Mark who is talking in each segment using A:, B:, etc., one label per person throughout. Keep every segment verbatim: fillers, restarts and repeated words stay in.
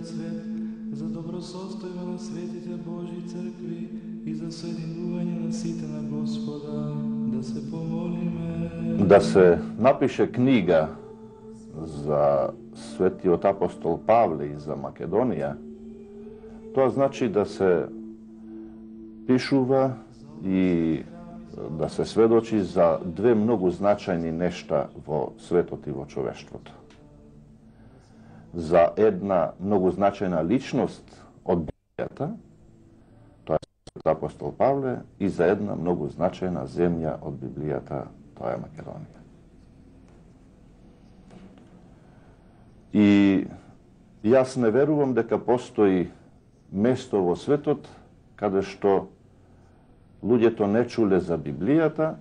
A: целиот свет, за добросостојба на светите Божји цркви и за соединување на сите на Господа, да се помолиме.
B: Да се напише книга за светиот апостол Павле и за Македонија, тоа значи да се пишува и да се сведочи за две многу значајни нешта во светот и во човештвото. За една многу значајна личност од Библијата, тоа е светиот апостол Павле, и за една многу значајна земја од Библијата, тоа е Македонија. И јас не верувам дека постои место во светот каде што луѓето не чуле за Библијата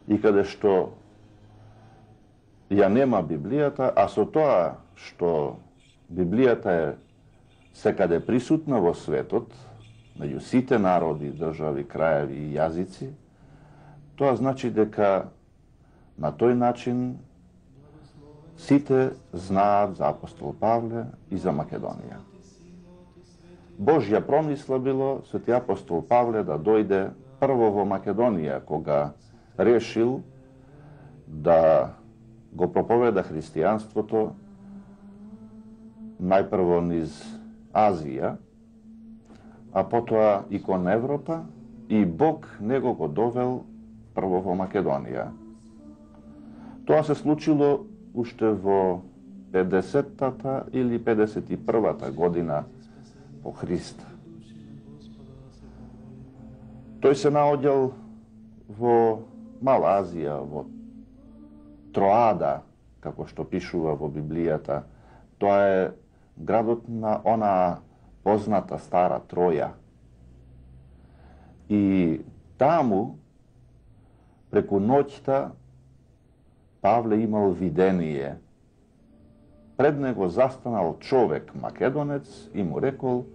B: и каде што ја нема Библијата, а со тоа што Библијата е секаде присутна во светот, меѓу сите народи, држави, краеви и јазици, тоа значи дека на тој начин сите знаат за апостол Павле и за Македонија. Божја промисла било свети апостол Павле да дојде прво во Македонија, кога решил да го проповеда христијанството најпрво низ Азија, а потоа и кон Европа, и Бог него го довел прво во Македонија. Тоа се случило уште во педесеттата или педесет и првата година по Христа. Тој се наоѓал во Мала Азија, во Троада, како што пишува во Библијата. Тоа е градот на она позната стара Троја. И таму, преку ноќта, Павле имал видение. Пред него застанал човек, македонец, и му рекол: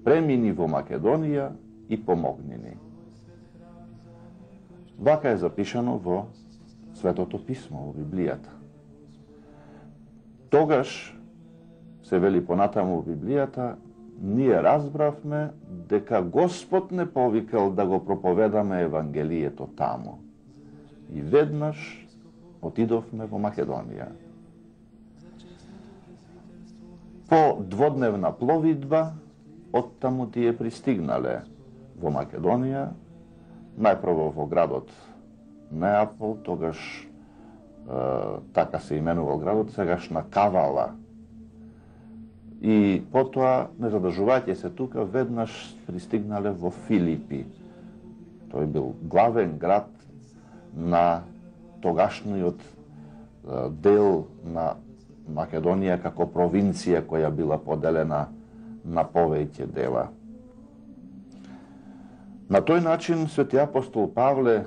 B: премини во Македонија и помогни ни. Вака е запишано во Светото писмо, во Библијата. Тогаш, се вели понатаму во Библијата, ние разбравме дека Господ не повикал да го проповедаме Евангелието таму. И веднаш отидовме во Македонија. По дводневна пловидба, оттаму тие пристигнале во Македонија, најпрво во градот Неапол, тогаш е, така се именувал градот, сегашна Кавала. И потоа, не задржувајќи се тука, веднаш пристигнале во Филипи. Тој бил главен град на тогашниот е, дел на Македонија како провинција која била поделена на повеќе дела. На тој начин свети апостол Павле,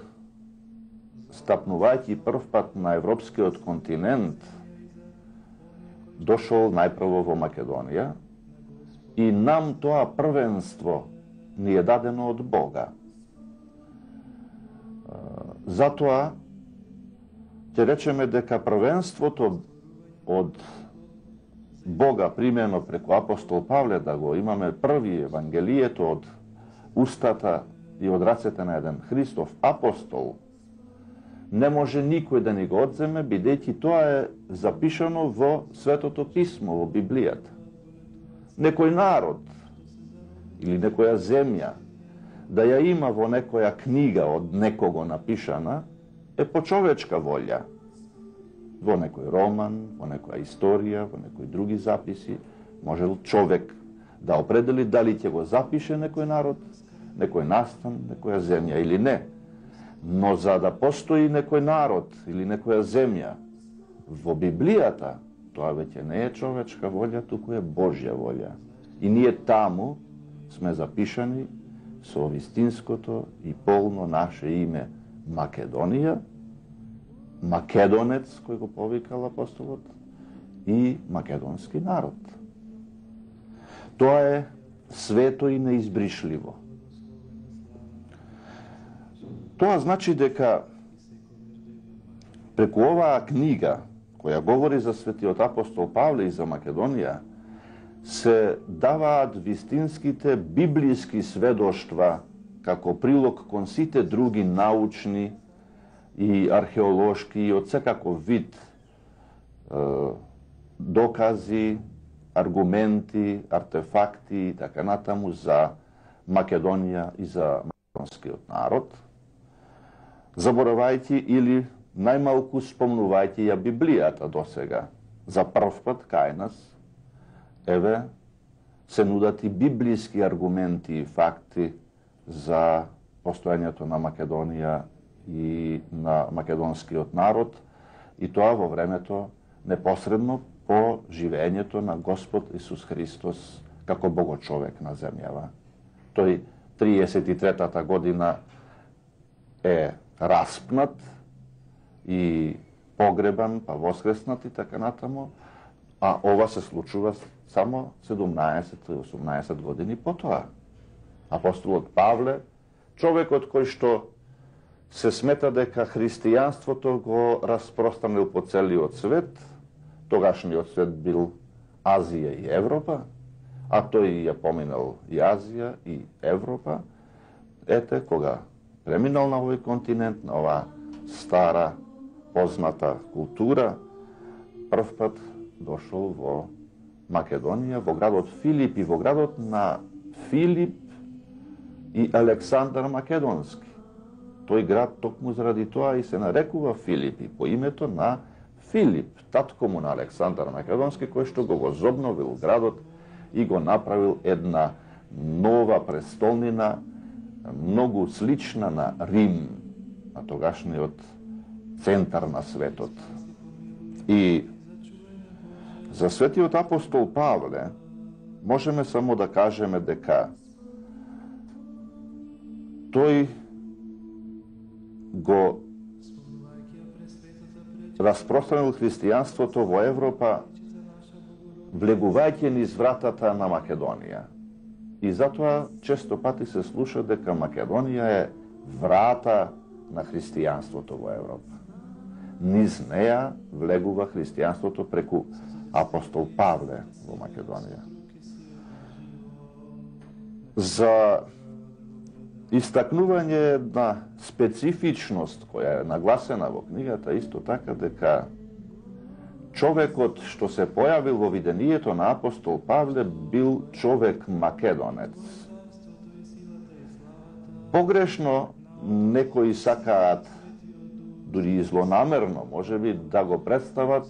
B: стапнувајќи првпат на европскиот континент, дошол најпрво во Македонија и нам тоа првенство ни е дадено од Бога. Затоа ќе речеме дека првенството од Бога примено преку апостол Павле, да го имаме први Евангелието од устата и од рацете на еден Христов апостол, не може никој да ни го одземе, бидејќи тоа е запишано во Светото писмо, во Библијата. Некој народ или некоја земја да ја има во некоја книга од некого напишана е по човечка волја. Во некој роман, во некоја историја, во некои други записи, може човек да определи дали ќе го запише некој народ, некој настан, некоја земја или не. Но за да постои некој народ или некоја земја во Библијата, тоа веќе не е човечка волја, туку е Божја волја. И ние таму сме запишани со вистинското и полно наше име Македонија, македонец кој го повикал апостолот, и македонски народ. Тоа е свето и неизбришливо. Тоа значи дека преку оваа книга, која говори за светиот апостол Павле и за Македонија, се даваат вистинските библиски сведоштва како прилог кон сите други научни и археолошки и од секаков вид е, докази, аргументи, артефакти и така натаму за Македонија и за македонскиот народ, заборавајќи или најмалку спомнувајќи ја Библијата досега. За прв пат кај нас, еве, се нудат и библиски аргументи и факти за постојањето на Македонија и на македонскиот народ, и тоа во времето непосредно по живењето на Господ Исус Христос како Богочовек на земјава. Тој триесет и третата година е распнат и погребан, па воскреснат и така натаму, а ова се случува само седумнаесет-осумнаесет години потоа. Апостолот Павле, човекот кој што се смета дека христијанството го распространил по целиот свет, тогашниот свет бил Азија и Европа, а тој ја поминал и Азија и Европа, ете, кога преминал на овој континент, на оваа стара, позната култура, прв пат дошол во Македонија, во градот Филип и во градот на Филип и Александар Македонски. Тој град токму заради тоа и се нарекува Филипи, по името на Филип, татко му на Александар Македонски, кој што го возобновил градот и го направил една нова престолнина, многу слична на Рим, на тогашниот центар на светот. И за светиот апостол Павле можеме само да кажеме дека тој го распространил христијанството во Европа, влегувајќи низ вратата на Македонија. И затоа често пати се слуша дека Македонија е врата на христијанството во Европа. Низ неја влегува христијанството преку апостол Павле во Македонија. За истакнување на специфичност која е нагласена во книгата, исто така дека човекот што се појавил во видението на апостол Павле бил човек македонец. Погрешно некои сакаат, дури и злонамерно, можеби да го представат,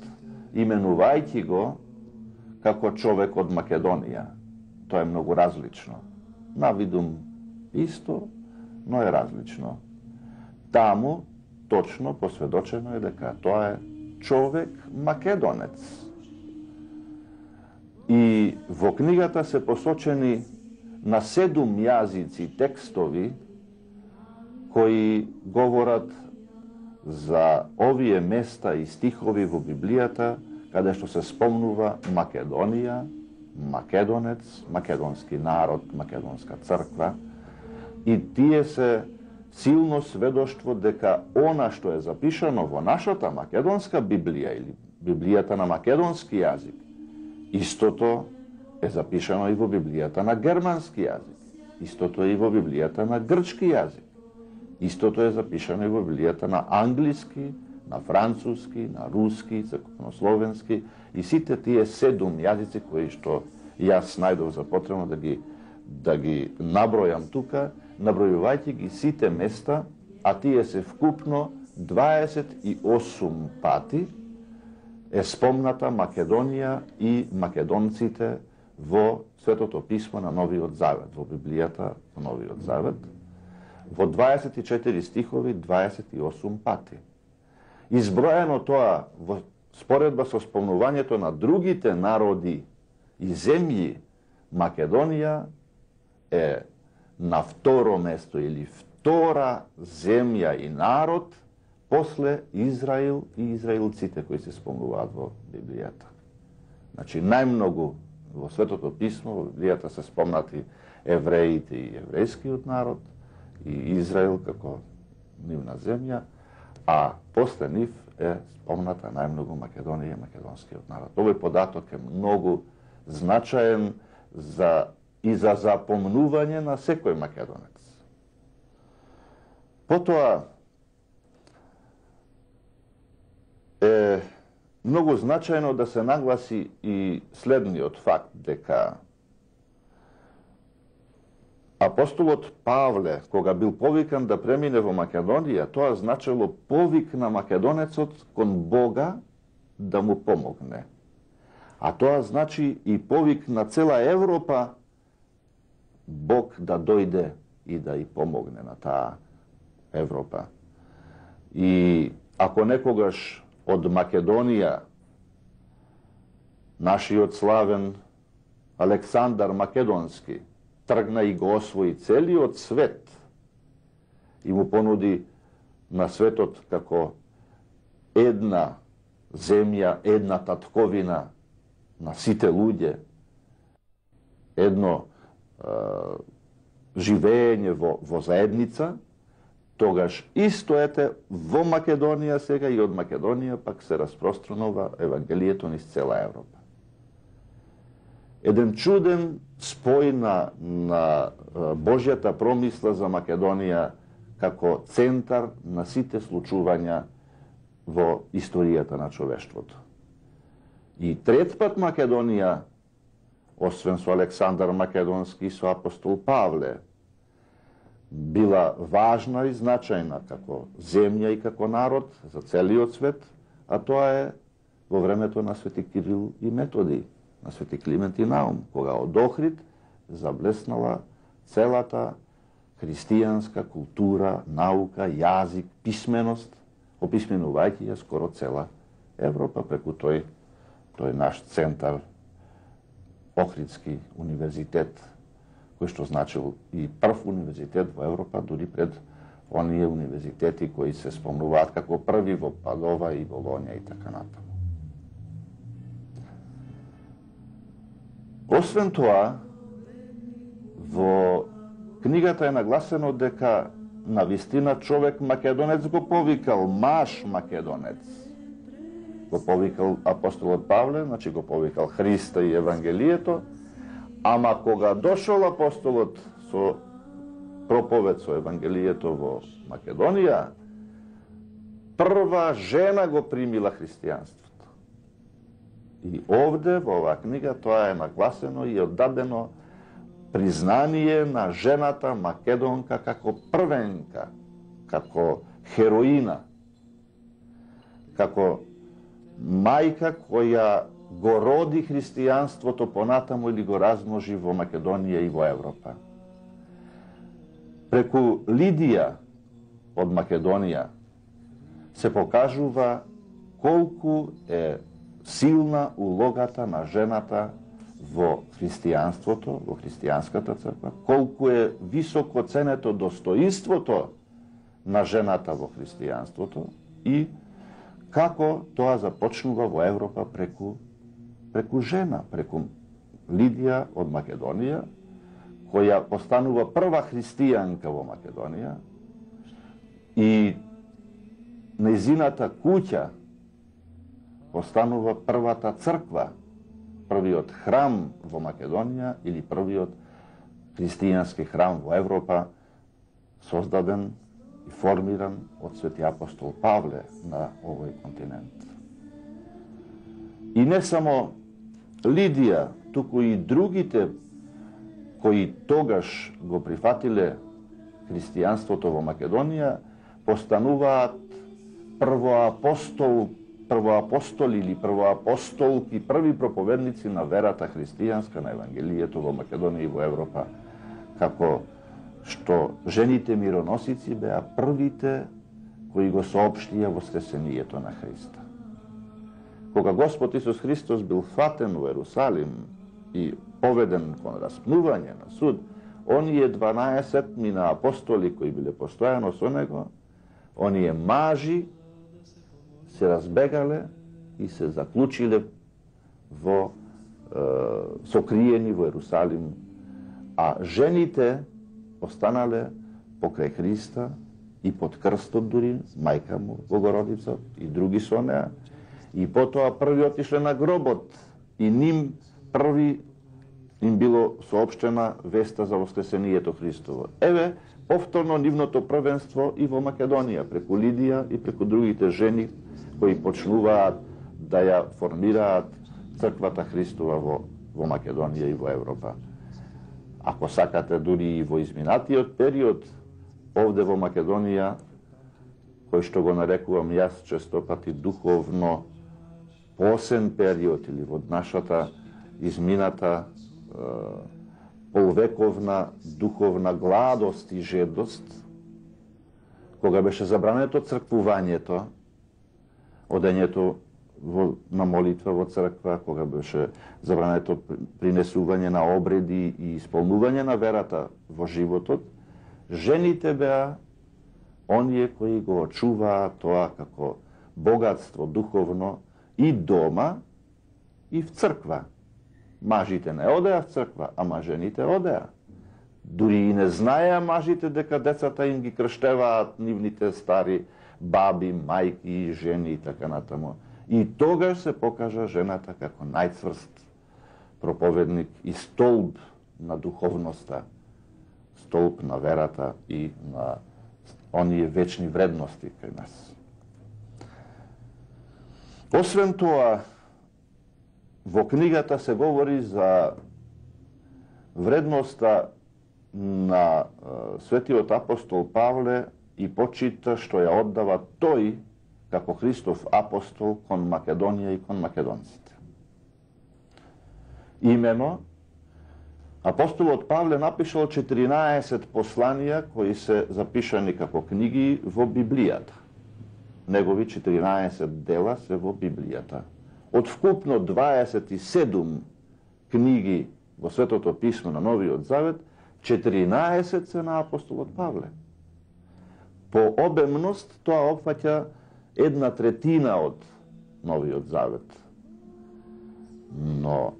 B: именувајќи го како човек од Македонија. Тоа е многу различно. Навидум исто, но е различно. Таму точно посведочено е дека тоа е човек македонец. И во книгата се посочени на седум јазици текстови кои говорат за овие места и стихови во Библијата каде што се спомнува Македонија, македонец, македонски народ, македонска црква, и тие се силно сведоштво дека она што е запишано во нашата македонска Библија или Библијата на македонски јазик, истото е запишано и во Библијата на германски јазик, истото е и во Библијата на грчки јазик, истото е запишано и во Библијата на англиски, на француски, на руски, црковнословенски и сите тие седум јазици кои што јас најдов за потребно да ги да ги набројам тука, набројувајќи ги сите места, а тие се вкупно дваесет и осум пати е спомната Македонија и македонците во Светото писмо на Новиот Завет, во Библијата на Новиот Завет, во дваесет и четири стихови дваесет и осум пати. Изброено тоа во споредба со спомнувањето на другите народи и земји, Македонија е на второ место или втора земја и народ после Израил и израелците кои се спомнуваат во Библијата. Значи, најмногу во Светото писмо, во Библијата се спомнати евреите и еврејскиот народ и Израил како нивна земја, а после нив е спомната најмногу Македонија и македонскиот народ. Овој податок е многу значаен за, и за запомнување на секој македонец. Потоа е многу значајно да се нагласи и следниот факт, дека апостолот Павле, кога бил повикан да премине во Македонија, тоа значило повик на македонецот кон Бога да му помогне. А тоа значи и повик на цела Европа Бог да дојде и да и помогне на таа Европа. И ако некогаш од Македонија нашиот славен Александар Македонски тргна и го освои целиот свет и му понуди на светот како една земја, една татковина на сите луѓе, едно е, живење во, во заедница, тогаш исто ете во Македонија сега и од Македонија пак се распространува Евангелието низ цела Европа. Еден чуден спој на, на Божјата промисла за Македонија како центар на сите случувања во историјата на човештвото. И трет пат Македонија, освен со Александар Македонски и со апостол Павле, била важна и значајна како земја и како народ за целиот свет, а тоа е во времето на свети Кирил и Методи, на свети Климент и Наум, кога од Охрид заблеснала целата христијанска култура, наука, јазик, писменост, описменувајќи ја скоро цела Европа преку тој, тој наш центар, Охридски универзитет, кој што значил и прв универзитет во Европа, дури пред оние универзитети кои се спомнуваат како први во Падова и Болонја и така натаму. Освен тоа, во книгата е нагласено дека на вистина човек македонец го повикал, маж македонец. Го повикал апостолот Павле, значи го повикал Христа и Евангелието, ама кога дошол апостолот со проповед со Евангелието во Македонија, прва жена го примила христијанството. И овде, во оваа книга, тоа е нагласено и оддадено признание на жената македонка како првенка, како хероина, како мајка која го роди христијанството понатаму или го размножи во Македонија и во Европа. Преку Лидија од Македонија се покажува колку е силна улогата на жената во христијанството, во христијанската црква, колку е високо ценето достоинството на жената во христијанството и како тоа започнува во Европа преку, преку жена, преку Лидија од Македонија, која постанува прва христијанка во Македонија и нејзината куќа постанува првата црква, првиот храм во Македонија или првиот христијански храм во Европа, создаден и формиран од свети апостол Павле на овој континент. И не само Лидија, туку и другите кои тогаш го прифатиле христијанството во Македонија, постануваат првоапостол првоапостоли или првоапостолки, први проповедници на верата христијанска, на Евангелието во Македонија и во Европа, како што жените мироносици беа првите кои го соопштија воскресението на Христа. Кога Господ Исус Христос бил фатен во Ерусалим и поведен кон распнување на суд, оние дванаесет мина апостоли кои биле постојано со него, оние мажи се разбегале и се заклучиле во е, сокриени во Ерусалим, а жените останале покрај Христа и под крстот дури, мајка му Богородица и други со неа, и потоа први отишле на гробот и ним први им било соопштена веста за воскресението Христово. Еве, повторно нивното првенство и во Македонија, преку Лидија и преку другите жени кои почнуваат да ја формираат црквата Христова во, во Македонија и во Европа. Ако сакате, дури и во изминатиот период, овде во Македонија, кој што го нарекувам јас често пати духовно посен период, или во нашата измината е, полвековна духовна гладост и жедост, кога беше забрането црквувањето, одењето во, на молитва во црква, кога беше забрането принесување на обреди и исполнување на верата во животот, жените беа оние кои го очуваа тоа како богатство духовно и дома, и в црква. Мажите не одеа в црква, ама жените одеа. Дури и не знаеа мажите дека децата им ги крштеваат нивните стари баби, мајки, жени и така натаму. И тогаш се покажа жената како најцврст проповедник и столб на духовноста, столб на верата и на оние вечни вредности кај нас. Освен тоа, во книгата се говори за вредноста на светиот апостол Павле и почита што ја оддава тој како Христов апостол кон Македонија и кон македонците. Имено, апостолот Павле напишал четиринаесет посланија кои се запишани како книги во Библијата. Негови четиринаесет дела се во Библијата. Од вкупно дваесет и седум книги во Светото писмо на Новиот Завет, четиринаесет се на апостолот Павле. По обемност тоа опфаќа една третина од Новиот Завет. Но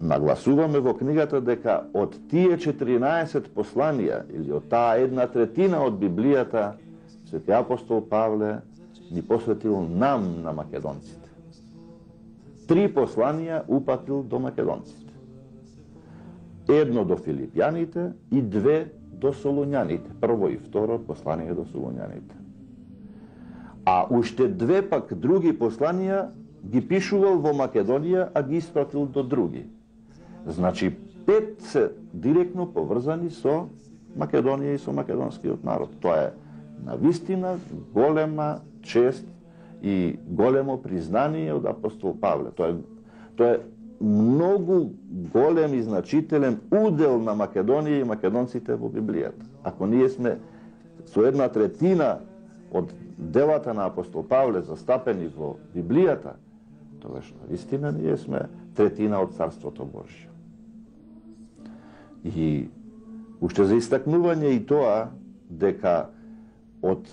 B: нагласуваме во книгата дека од тие четиринаесет посланија, или од таа една третина од Библијата, Свети апостол Павле ни посветил нам на македонците. Три посланија упатил до македонците. Едно до филипјаните и две до солуњаните. Прво и второ послание до солуњаните. А уште две пак други посланија ги пишувал во Македонија, а ги испратил до други. Значи, пет се директно поврзани со Македонија и со македонскиот народ. Тоа е навистина голема чест и големо признание од апостол Павле. Тоа е, тоа е многу голем и значителен удел на Македонија и македонците во Библијата. Ако ние сме со една третина од делата на апостол Павле застапени во Библијата, тогаш навистина ние сме третина од Царството Божјо. И уште за истакнување и тоа дека од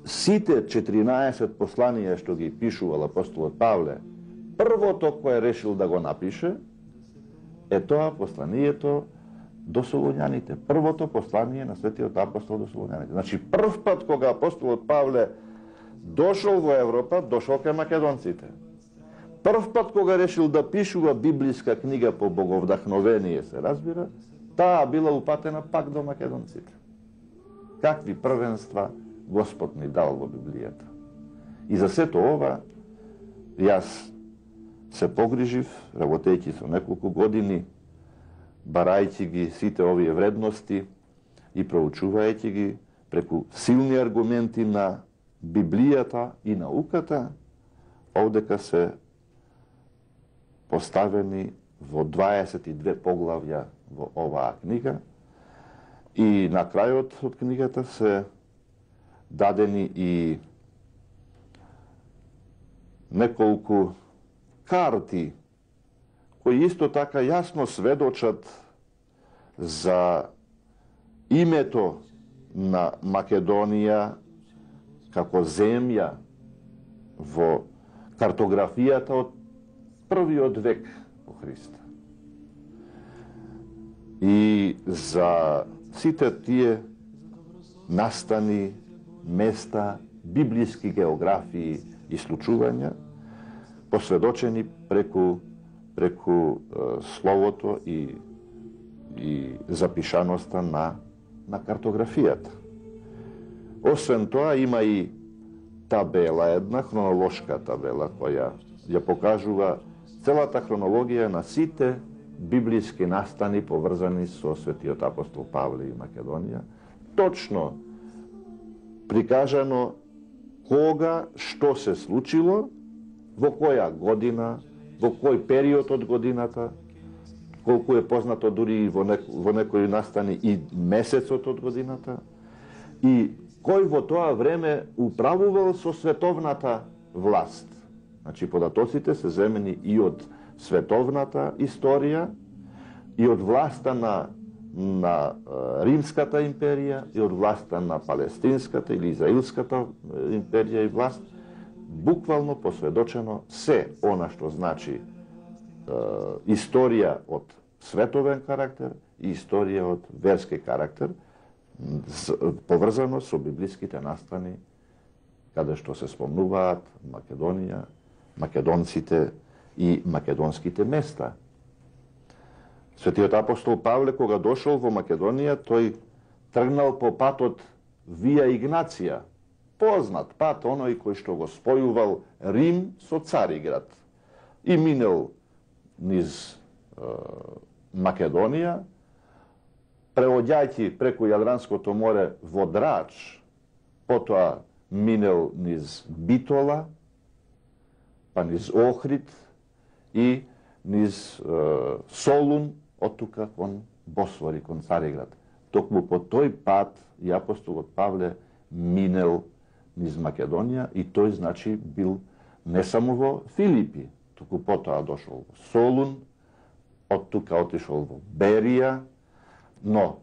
B: сите четиринаесет посланија што ги пишувал апостолот Павле, првото кое решил да го напише е тоа посланието до солуњаните. Првото послание на светиот апостол до солуњаните. Значи, прв пат кога апостолот Павле дошол во Европа, дошол кај македонците. Прв пат кога решил да пишува библиска книга по боговдахновение, се разбира, таа била упатена пак до македонците. Какви првенства Господ ни дал во Библијата. И за сето ова, јас се погрижив, работејќи со неколку години, барајќи ги сите овие вредности и проучувајќи ги преку силни аргументи на Библијата и науката, овдека се поставени во дваесет и две поглавја во оваа книга и на крајот од книгата се дадени и неколку карти кои исто така јасно сведочат за името на Македонија како земја во картографијата од првиот век по Христа. И за сите тие настани, места, библиски географии и случувања, посведочени преку преку е, словото и, и запишаноста на, на картографијата. Освен тоа, има и табела, една хронолошка табела, која ја покажува целата хронологија на сите библиски настани поврзани со светиот апостол Павле и Македонија. Точно прикажано кога, што се случило, во која година, во кој период од годината, колку е познато дури и во, нек, во некои настани и месецот од годината, и кој во тоа време управувал со световната власт. Значи, податоците се земени и од световната историја, и од власта на, на Римската империја, и од власта на Палестинската или Израилската империја и власт, буквално посведочено се она што значи е, историја од световен карактер и историја од верски карактер, поврзано со библиските настани, каде што се спомнуваат Македонија, македонците и македонските места. Светиот апостол Павле, кога дошол во Македонија, тој тргнал по патот Вија Игнација, познат пат, оној кој што го спојувал Рим со Цариград, и минел низ е, Македонија, преоѓајќи преку Јадранското море во Драч, потоа минел низ Битола, па низ Охрид и низ е, Солун, оттука кон Босвори, кон Цариград. Токму по тој пат и апостолот Павле минел низ Македонија, и тој значи бил не само во Филипи, туку потоа дошол во Солун, оттука отишол во Берија, но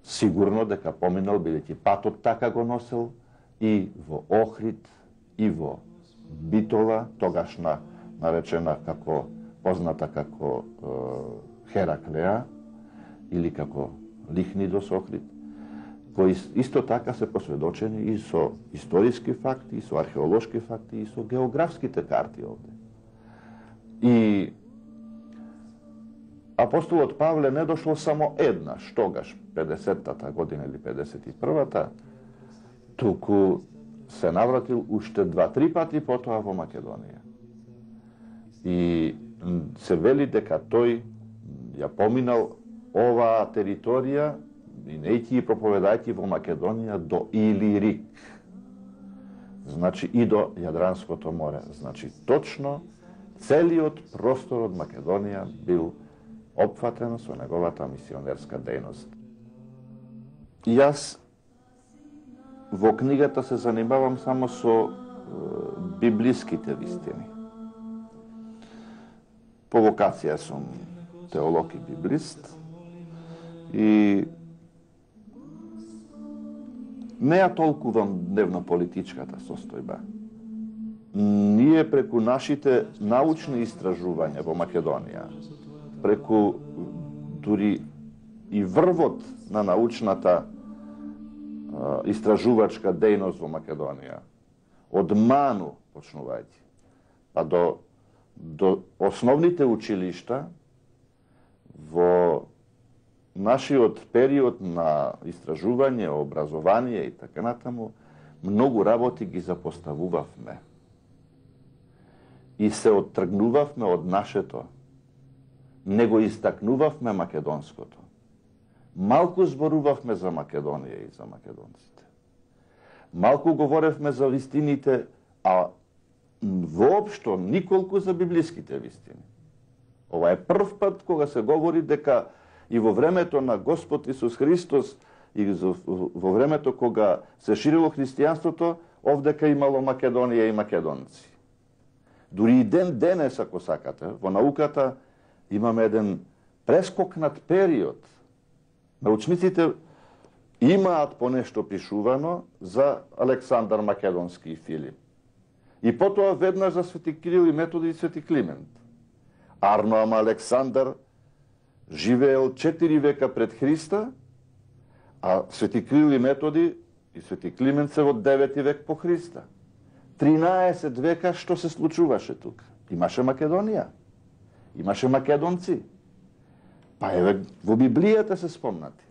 B: сигурно дека поминал, бидејќи патот така го носел, и во Охрид, и во Битола, тогашна наречена како, позната како е, Хераклеа, или како Лихнидос Охрид, кои исто така се посведочени и со историски факти, и со археолошки факти, и со географските карти овде. И апостолот Павле не дошол само еднаш, тогаш, педесеттата година или педесет и првата, туку се навратил уште два-три пати потоа во Македонија. И се вели дека тој ја поминал оваа територија, минејќи и проповедајќи во Македонија до Илирик. Значи и до Јадранското море. Значи точно целиот простор од Македонија бил опфатен со неговата мисионерска дејност. Јас во книгата се занимавам само со е, библиските вистини. По вокација сум теолог и библист, и не ја толкувам дневно-политичката состојба. Ние преку нашите научни истражувања во Македонија, преку дури и врвот на научната а, истражувачка дејност во Македонија, од Ману почнувајќи, па до, до основните училишта, во нашиот период на истражување, образование и така натаму, многу работи ги запоставувавме. И се оттргнувавме од нашето. Не го истакнувавме македонското. Малку зборувавме за Македонија и за македонците. Малку говоревме за вистините, а воопшто николку за библиските вистини. Ова е прв пат кога се говори дека и во времето на Господ Исус Христос, и во времето кога се ширило христијанството, овдека имало Македонија и македонци. Дури и ден денес, ако сакате, во науката имаме еден прескокнат период. Научниците имаат понешто пишувано за Александар Македонски и Филип. И потоа веднаш за Свети Кирил и Методи и Свети Климент. Арно ама Александар живеел четири века пред Христа, а Свети Кирил и Методи и Свети Климент се во девети век по Христа. тринаесет века што се случуваше тука? Имаше Македонија. Имаше македонци. Па еве во Библијата се спомнати.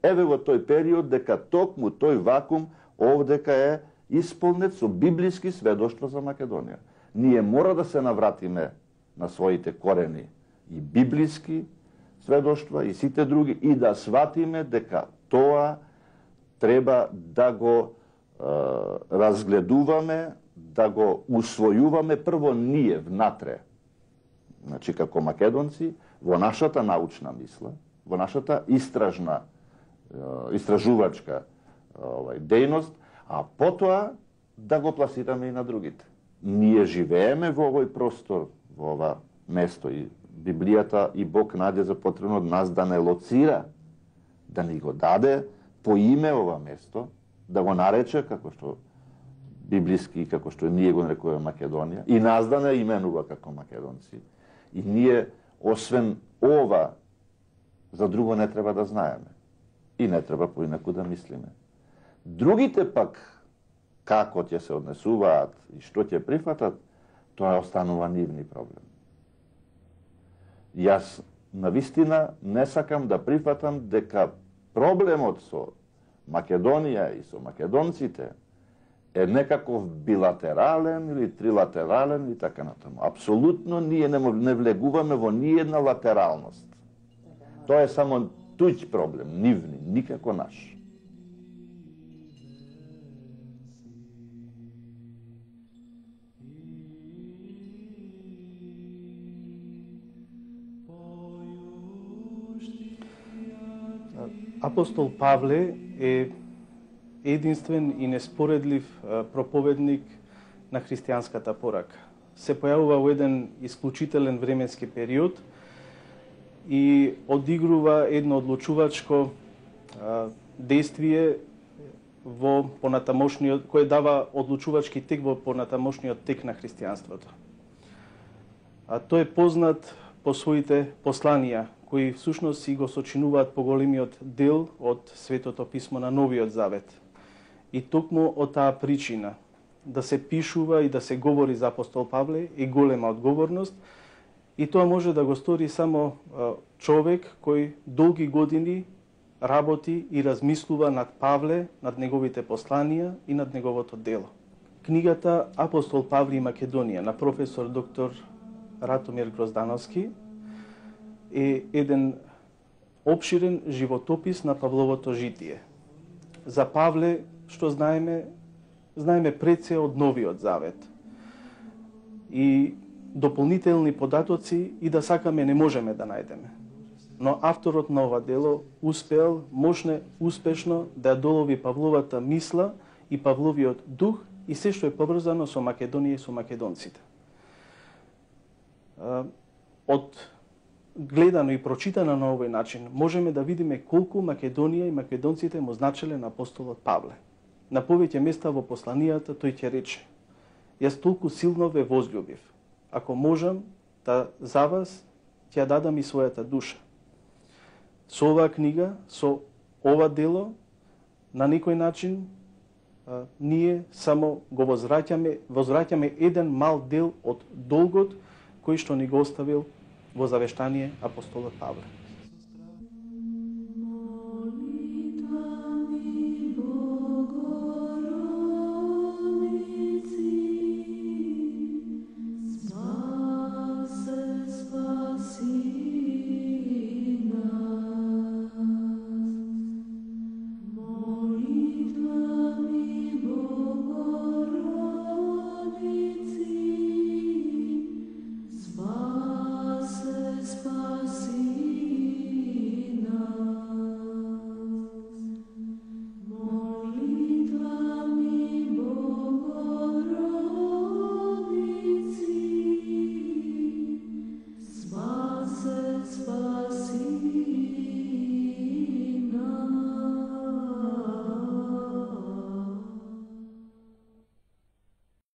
B: Еве во тој период дека токму тој вакуум овдека е исполнет со библиски сведоштва за Македонија. Ние мора да се навратиме на своите корени и библиски сведоштва и сите други и да сватиме дека тоа треба да го е, разгледуваме, да го усвојуваме прво ние внатре. Значи како македонци во нашата научна мисла, во нашата истражна истражувачка овај дејност, а потоа да го пласираме и на другите. Ние живееме во овој простор, во ова место и Библијата и Бог најде за потребно од нас да не лоцира, да ни го даде по име ова место, да го нарече како што библиски, како што ние го нарекуваме Македонија, и нас да не именува како македонци. И ние, освен ова, за друго не треба да знаеме. И не треба поинаку да мислиме. Другите пак, како ќе се однесуваат и што ќе прифатат, тоа останува нивни проблем. Јас навистина не сакам да прифатам дека проблемот со Македонија и со македонците е некаков билатерален или трилатерален и така натаму. Апсолутно ние не, не влегуваме во ниедна латералност. Тоа е само туѓ проблем, нивни, никако наш.
C: Апостол Павле е единствен и неспоредлив проповедник на христијанската порака. Се појавува во еден исклучителен временски период и одигрува едно одлучувачко действие во понатамошниот, кој дава одлучувачки тек во понатамошниот тек на христијанството. А тој е познат по своите посланија, кои всушност си го сочинуваат поголемиот дел од Светото писмо на Новиот Завет. И токму од таа причина да се пишува и да се говори за апостол Павле е голема одговорност, и тоа може да го стори само човек кој долги години работи и размислува над Павле, над неговите посланија и над неговото дело. Книгата Апостол Павле и Македонија на професор доктор Ратомир Гроздановски е еден опширен животопис на Павловото житие. За Павле, што знаеме, знаеме пред се од Новиот Завет. И дополнителни податоци и да сакаме не можеме да најдеме. Но авторот на ова дело успеал, можне успешно да ја долови Павловата мисла и Павловиот дух и се што е поврзано со Македонија и со македонците. Од гледано и прочитано на овој начин, можеме да видиме колку Македонија и македонците му значеле на апостолот Павле. На повеќе места во посланијата тој ќе рече: јас толку силно ве возљубив. Ако можам, да за вас ќе дадам и својата душа. Со оваа книга, со ова дело, на некој начин, а, ние само го возвраќаме, возвраќаме еден мал дел од долгот кој што ни го оставил во завештание апостолот Павле.